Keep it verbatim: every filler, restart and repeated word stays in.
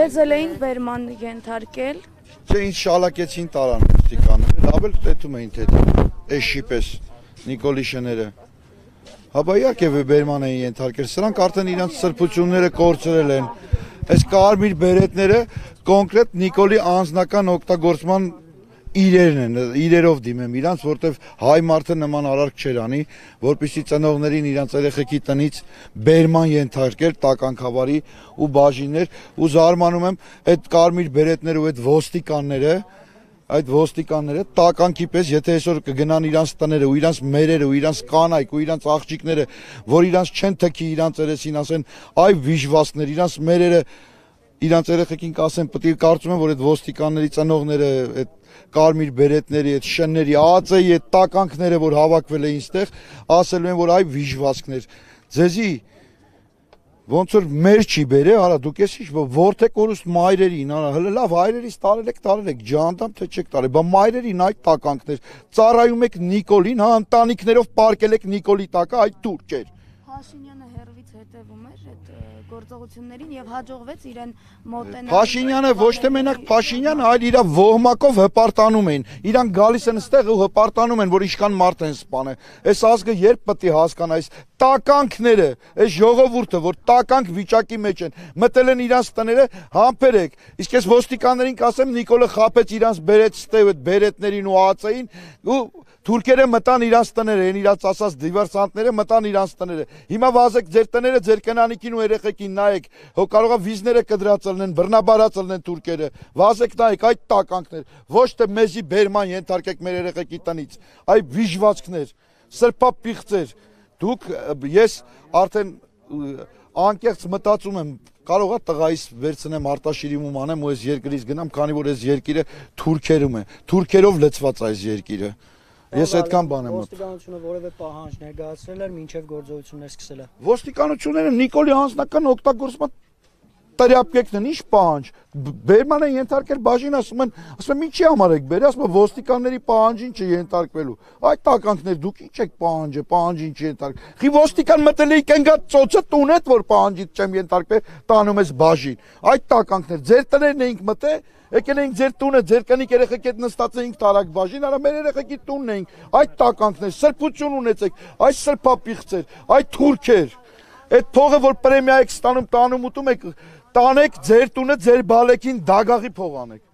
Մեզել էին բերման ենթարկել։ Չէ, ինձ շալակեցին տարան ոստիկանները, լավ էլ տեսում էին թե էշի պես Նիկոլի շները։ Հաբա իհարկե բերման էին ենթարկել, սրանք արդեն իրենց սրբությունները կորցրել են։ Այս կարմիր բերետները կոնկրետ Նիկոլի անձնական օգտագործման իրերն են, իրերով դիմեմ իրանց, որտեվ հայ մարդը նման արարք չեր անի, որպեսզի ծնողներին իրանց երեխեքի տնից բերման ենթարկել տականքավարի ու բաժիններ, ու զարմանում եմ այդ կարմիր բերետները ու այդ ոստիկանները, այդ ոստիկանները տականքի պես, եթե այսօր կգնան իրանց տները ու իրանց մերերը ու իրանց կանայք ու իրանց աղջիկները, որ իրանց չեն թքի իրանց երեսին, ասեն այ վիժվածքներ, իրանց մերերը իրանց երեխեքին կասեն, պետք է կարծում եմ, որ այդ ոստիկանների ծնողները, այդ կարմիր բերետների, այդ շնների, ԱԱԾ-ի այդ տականքները, որ հավաքվել էին այստեղ, ասելու են, որ այ վիժվածքներ։ Ձեզի ոնց որ մեր չի բերե, արա դուք էս ինչ որդեք օրուստ մայրերին, արա հələ լավ հայրերից տարել եք, տարել եք, ջանդամ թե չեք տարել, բա մայրերին այդ տականքներ, ծառայում եք Նիկոլին, հա, ընտանիքներով պարկել եք Նիկոլի տակը, այդ թուրք էր։ Փաշինյանը հերվից հետևում էր այդ գործողություններին եւ հաջողվեց իրեն մոտենալ։ Փաշինյանը ոչ թե մենակ Փաշինյանը, այլ իր ոհմակով հպարտանում էին։ Իրանք գալիս են այստեղ ու հպարտանում են, որ ինչքան մարդ են սպանել։ Այս ազգը երբ պետք է հասկանա այս տականքները, այս ժողովուրդը, որ տականք վիճակի մեջ են, մտել են իրանց տները, համբերեք։ Իսկ այս ոստիկաններին կասեմ, Նիկոլը խաբեց իրանց բերեց ստեւ այդ բերետներին ու ԱԱԾ-ին ու թուրքերը մտան իրանց տները, են իրանց ասած դիվերսանտները մտան իրանց տները։ Հիմա վազեք ձեր տները, ձեր կնանիքին ու երեխեքին նայեք, հո կարող է վիզները կդրածել են, բռնաբարածել են թուրքերը։ Վազեք նայեք այդ տականքներ, ոչ թե մեզի բերման ենթարկեք մեր երեխեքի տնից, այ վիժվածքներ, սրբապիղծեր։ Դուք ես արդեն անկեղծ մտածում եմ, կարող է տղայիս վերցնեմ արտաշիրիմում անեմ ու այս երկրից գնամ, քանի որ այս երկիրը թուրքերում է, թուրքերով լցված այս երկիրը։ Ես այդքան բան եմ մտածում։ Ոստիկանությունը որևէ պահանջ ներկայացրել էր մինչև գործողություններ սկսելը։ Ոստիկանությունները Նիկոլի անձնական օգտագործման տերապկեկն են, ինչ պահանջ։ Բերման են ենթարկել բաժին, ասում են, ասում են ինչի համար եք բերի, ասում են ոստիկանների պահանջին չենթարկվելու։ Այդ տականքներ դուք ինչ եք պահանջը, պահանջին չենթարկ։ Խի ոստիկան մտել է կենգա ծոցը տունետ, որ պահանջից չեմ ենթարկվել, տանում ես բաժին։ Այդ տականքներ ձեր տներն էինք մտե, եկել էինք ձեր տունը, ձեր կնիկ երեխեք հետ նստած էինք տարակ բաժին, արա մեր երեխեքի տունն էինք, այդ տականքներ, սրբություն ունեցեք, այդ սրբապիղծեր, այդ թուրքեր, այդ փողը, որ պրեմիա եք ստանում, տանում ուտում եք, տանեք ձեր տունը, ձեր բալեքին դագաղի փող անեք։